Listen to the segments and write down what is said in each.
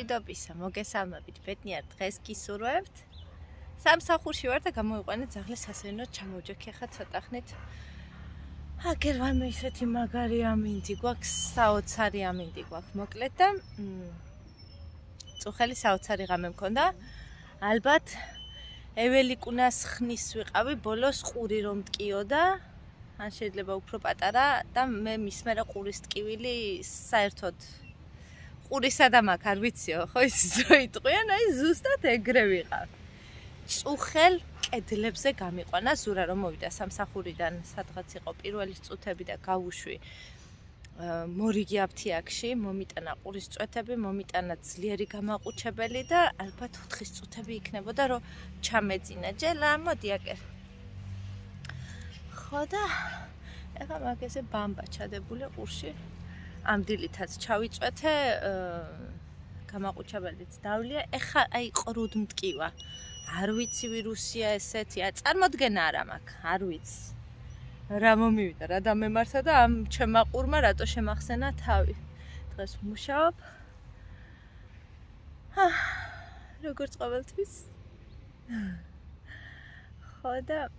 მშვიდობისა, მოგესალმებით, ბედნიერ დღეს გისურვებთ. სამსახურში ვარ და გამოიყვანე ძაღლის სასეირნოდ ჩამოვჯექი ახლა ცოტა ხნით. აგერ ვამე ისეთი მაგარი ამინდი გვაქვს, საოცარი ამინდი გვაქვს მოკლედ და წუხელი საოცარი ღამე მქონდა. ალბათ ეველიკუნას ხნის ვიყავი, ბოლოს ყური რომ მტკიოდა, ან შეიძლება უფრო პატარა და მე მისმერა ყურის ტკივილი საერთოდ ყურისა და მაგ არ ვიციო, ხო ის რო იტყვიან, აი ზუსტად ეგრე ვიყავ. წუხელ კედლებზე გამიყვანა ზურა რომ მოვიდა სამსახურიდან, სადღაც იყო პირველი წუთები და გავუშვი მორიგი აფთიაქში, მომიტანა ყურის წვეთები, მომიტანა ძლიერი გამაყუჩებელი და ალბათ 4 წუთები იქნებოდა რომ ჩამეძინა ჯელა, მოდი აკერ. ხო და ეხლა მაგაზე ბამბა ჩადებული ყურში. ამ დილითაც ჩავიწვეთე, გამაყუჩებელიც დავლია, ეხა აი ყრუდ მტკივა. არ ვიცი ვირუსია ესეთია, წარმოდგენა არა მაქვს, არ ვიცი. რა მომივიდა, რა დამემართა და ამ ჩემმა ყურმა რატო შემახსენა თავი. დღეს ვმუშაობ. როგორც ყოველთვის. ხო და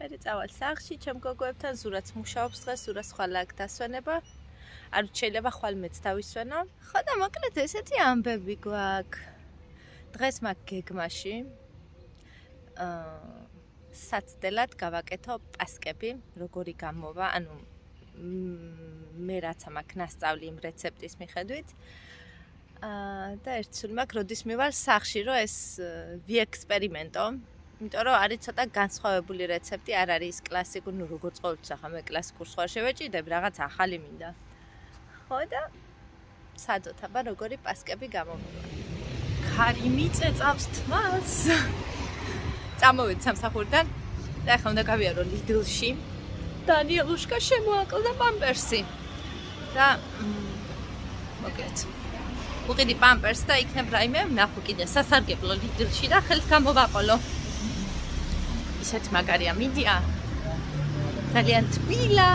მე წავალ სახლში, ჩემ გოგოებთან ზურაც მუშაობს დღეს, ზურას ხვალ აქ დასვენება. არ შეიძლება ხვალ მეც დავისვენო. ხო და მოკლედ ესეთი ამბები გვაქვს. დღეს მაგ გეგმაში საცდელად გავაკეთო პასკები, როგორი გამოვა, ანუ მე რაც მაქვს ნასწავლი იმ რეცეპტის მიხედვით. და ერთ სულ მაქვს, როდის მივალ სახლში, რომ ეს ვიექსპერიმენტო, იმიტომ რომ არის ცოტა განსხვავებული რეცეპტი, არ არის კლასიკური, ну როგორც ყოველთვის ახლა მე კლასიკურს ხარ შევეჭიდებ, რაღაც ახალი მინდა. ხო და სადოთ აბა როგორი პასკები გამოვა. ქარი მიწეწავს თმას. წამოვედი სამსახურიდან და ახლა უნდა გავიარო ლიდლში. დანიელუშკა შემოაკლდა პამპერსი. და მოკლედ უყიდი პამპერსს და იქნებ რაიმე ნახო კიდე სასარგებლო ლიდლში და ხელს გამოვაყოლო. ისეთ მაგარი ამინდია. ძალიან თბილა.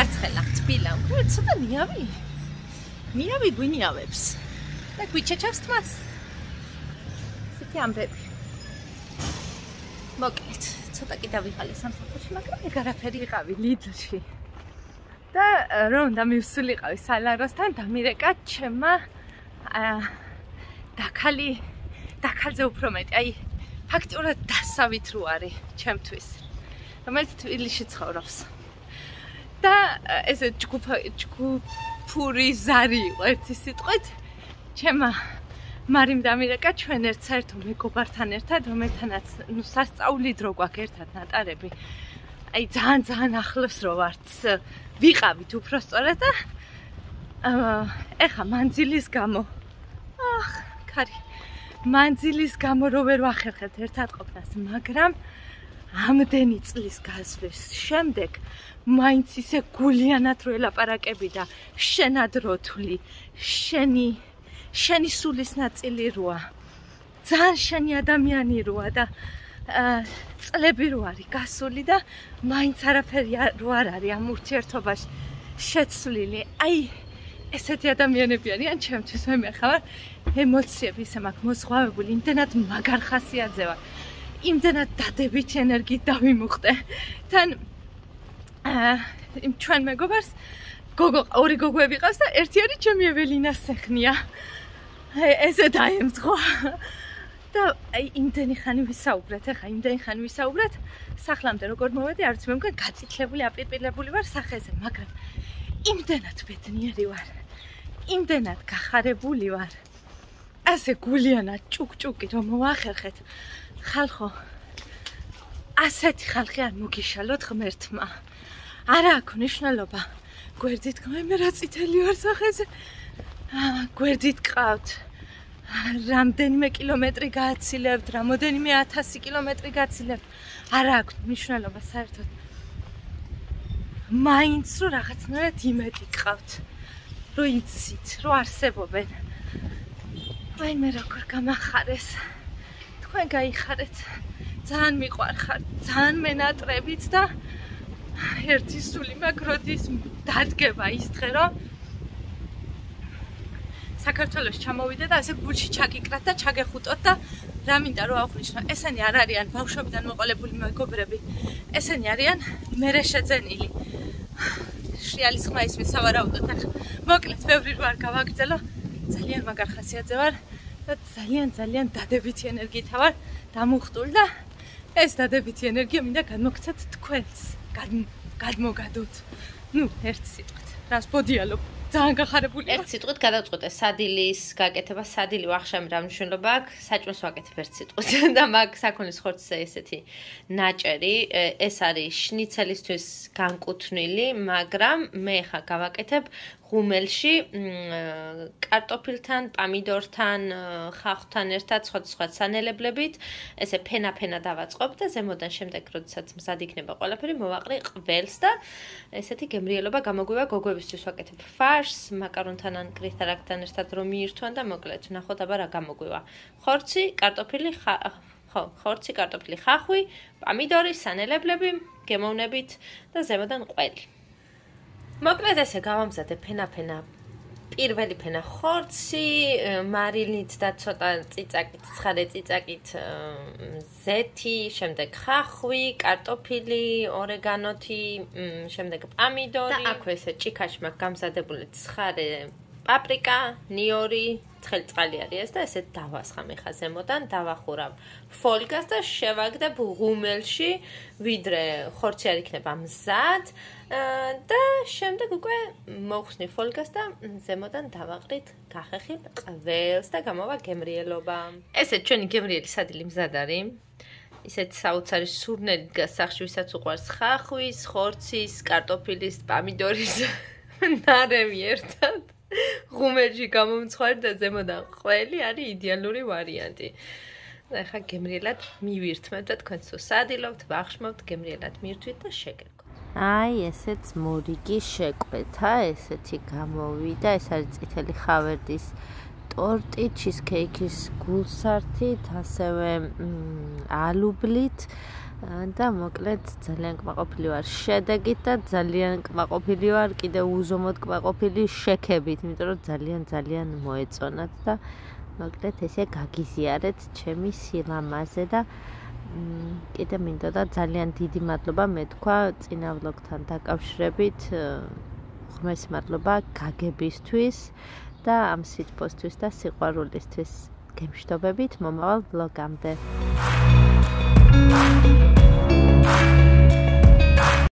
არც ხელა თბილა, უკვე ცოტა ნიავი. ნიავი გვინიავებს. და გვიჩეჩავს თმას. ისეთი ამბები. მოკლედ, ცოტა კიდე ვიყავი სამსახურში, მაგრამ ეგ არაფერი იყავი ლიდლში. და რომ დამივსულიყავი სალაროსთან, დამირეკა ჩემმა დაქალზე უფრო მეტი, აი ფაქტიურად დასავით რო არის ჩემთვის, რომელიც თბილისში ცხოვრობს. და ესე ჯგუფური ზარი იყო ერთი სიტყვით, ჩემმა მარიმ დამირეკა ჩვენ ერთ-საერთო მეგობართან ერთად, რომელთანაც ნუ სასწაული დრო გვაქვს ერთად ნატარები. აი ძალიან ახლოს რო ვართ, ვიყავით უფრო სწორად და ეხა მანძილის გამო ქარი მანძილის გამო რო ვერ ვახერხებთ ერთად ყოფნას, მაგრამ ამდენი წლის გასვლის შემდეგ მაინც ისე გულიანად რო ელაპარაკები და შენად რო თვლი, შენი სულის ნაწილი როა, ძალიან შენი ადამიანი როა და წლები რო არის გასული და მაინც არაფერი რო არ არის ამ ურთიერთობაში შეცვლილი. აი ესეთი ადამიანები არიან ჩემთვის, მე მეხარ ემოციები ისე მაქვს მოზღვავებული, იმდენად მაგარ ხასიათზე ვარ, იმდენად დადებითი ენერგიით დავიმუხტე. თან იმ ჩვენ მეგობარს ორი გოგოები ყავს და ერთი არის ჩემი ეველინას სეხნია. ესე დაემძღვა. და აი იმდენი ხანი ვისაუბრეთ, ახლა იმდენი ხანი ვისაუბრეთ, სახლამდე როგორ მოვედი, არ ვიცი, მე მგონი გაწითლებული, აპირპილებული ვარ სახეზე, მაგრამ იმდენად ბედნიერი ვარ. იმდენად გახარებული ვარ. ასე გულიანად ჭუკჭუკი რომ მოვახერხეთ. ხალხო, ასეთი ხალხი არ მოგიშალოთ ღმერთმა. არა აქვს მნიშვნელობა. გვერდით გმე მე რა წითელი ვარ სახეზე. გვერდით ყავთ. რამდენიმე კილომეტრი გააცილებთ, რამოდენიმე 1000 კილომეტრი გააცილებთ. არა აქვს მნიშვნელობა საერთოდ. მაინც რო რაღაცნაირად იმედი გყავთ, რო იცით, რო არსებობენ. აი მე როგორ გამახარეს. თქვენ გაიხარეთ. ძალიან მიყვარხართ, ძალიან მენატრებით და ერთი სული მაქვს, როდის დადგება ის დღე, რომ საქართველოს ჩამოვიდე და ასე გულში ჩაგიკრათ და ჩაგეხუტოთ და რა მინდა რომ აღვნიშნო, ესენი არ არიან ბავშვობიდან მოყოლებული მეგობრები. ესენი არიან მერე შეძენილი. შრიალის ხმა ისმის სავარაუდოდ ახლა. მოკლედ, ბევრი რო არ გავაგრძელო, ძალიან მაგარ ხასიათზე ვარ და ძალიან დადებითი ენერგიით ვარ დამუხტული და ეს დადებითი ენერგია მინდა განმოგცეთ თქვენს. გადმოგადოთ. ნუ ერთ სიტყვით. რას ბოდიალობ? ძალიან გახარებული. ერთ სიტყვით გადავწყვეტე სადილის გაკეთება, სადილი ვახშამი რა მნიშვნელობა აქვს, საჭმელს ვაკეთებ ერთ სიტყვით და მაგ საქონლის ხორცზე ესეთი ნაჭერი, ეს არის შნიცელისთვის განკუთვნილი, მაგრამ მე ხა გავაკეთებ ღუმელში კარტოფილთან, პამიდორთან, ხახვთან ერთად სხვა სანელებლებით, ესე ფენა დავაწყობ და ზემოდან შემდეგ როდესაც მზად იქნება ყველაფერი, მოვაყრი ყველს და ესეთი გემრიელობა გამოგვივა გოგოებისთვის ვაკეთებ ფარშს, მაკარონთან ან კრიტარაკთან ერთად რომ მიირთვან და მოკლედ ვნახოთ აბა რა გამოგვივა. ხორცი, კარტოფილი, ხორცი, კარტოფილი, ხახვი, პამიდორი, სანელებლები, გემოვნებით და ზემოდან ყველი. მოკლედ ესე გავამზადე ფენა პირველი ფენა ხორცი, მარილით და ცოტა წიწაკით, ცხარე წიწაკით ზეთი, შემდეგ ხახვი, კარტოფილი, ორეგანოთი, შემდეგ პამიდორი. და აქვე ესე ჭიქაში მაქვს გამზადებული ცხარე პაპრიკა, ნიორი, ცხელი წყალი არის ეს და ესე დავასხამ ეხა ზემოდან, დავახურავ ფოლგას და შევაგდებ ღუმელში, ვიდრე ხორცი არ იქნება მზად. და შემდეგ უკვე მოვხსნი ფოლგას და ზემოდან დავაყრით გახეხილ ყველს და გამოვა გემრიელობა. ესე ჩვენი გემრიელი სადილი მზად არის. ისეთ საოცარი სურნელი დგას სახში, ვისაც უყვარს ხახვის, ხორცის, კარტოფილის, პამიდორის ნარევი ერთად. ღუმელში გამომცხვარი და ზემოდან ყველი არის იდეალური ვარიანტი. ეხლა გემრიელად მივირთმევთ და თქვენ თუ სადილობთ, ვახშმობთ, გემრიელად მირთვით და შეგერგოთ. აი ესეც მორიგი შეკვეთა, ესეთი გამოვიდა, ეს არის წითელი ხავერდის ტორტი, ჩიზკეიქის გულსართით, ასევე ალუბლით და მოკლედ ძალიან კმაყოფილი ვარ შედეგით და ძალიან კმაყოფილი ვარ კიდევ უზომოდ კმაყოფილი შექებით, იმიტომ რომ ძალიან მოეწონათ და მოკლედ ესე გაგიზიარეთ ჩემი სილამაზე და კიდე მინდოდა ძალიან დიდი მადლობა მეთქვა წინა ვლოგთან დაკავშირებით, ღმერთს მადლობა გაგებისთვის და ამ სიტყვისთვის და სიყვარულისთვის. გემშვიდობებით მომავალ ვლოგამდე.